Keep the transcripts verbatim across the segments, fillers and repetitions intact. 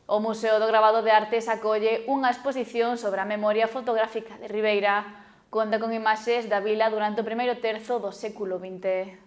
O Museo do Gravado de Artes acolle unha exposición sobre a memoria fotográfica de Ribeira. Conta con imaxes da vila durante o primeiro terzo do século vinte.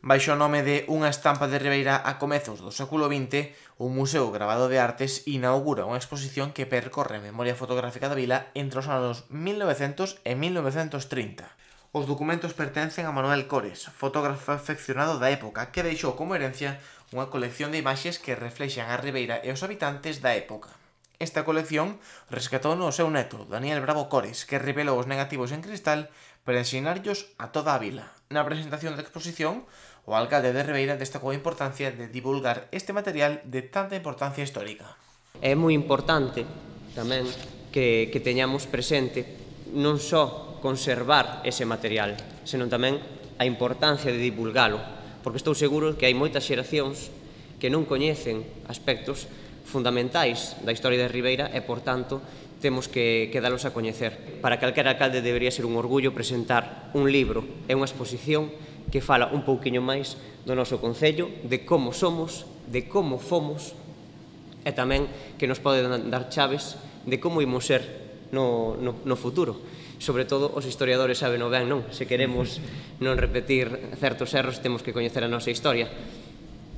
Baixo o nome de Unha estampa de Ribeira a comezos do século vinte, o Museo Gravado de Artes inaugura unha exposición que percorre a memoria fotográfica da vila entre os anos mil novecentos e mil novecentos trinta. Os documentos pertencen a Manuel Cores, fotógrafo afeccionado da época, que deixou como herencia unha colección de imaxes que reflexan a Ribeira e os habitantes da época. Esta colección rescatou no seu neto, Daniel Bravo Cores, que revelou os negativos en cristal para ensinarllos a toda a vila. Na presentación da exposición, o alcalde de Ribeira destacou a importancia de divulgar este material de tanta importancia histórica. É moi importante tamén que, que teñamos presente non só conservar ese material, senón tamén a importancia de divulgalo, porque estou seguro que hai moitas xeracións que non coñecen aspectos fundamentais da historia de Ribeira e, por tanto, temos que, que dalos a coñecer. Para calquera alcalde debería ser un orgullo presentar un libro e unha exposición que fala un pouquiño máis do noso concello, de como somos, de como fomos, e tamén que nos pode dar chaves de como imos ser no, no, no futuro. Sobre todo, os historiadores saben o ben, non? Se queremos non repetir certos erros, temos que coñecer a nosa historia.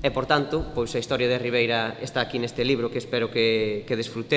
E, por tanto, pois a historia de Ribeira está aquí neste libro que espero que, que desfrute.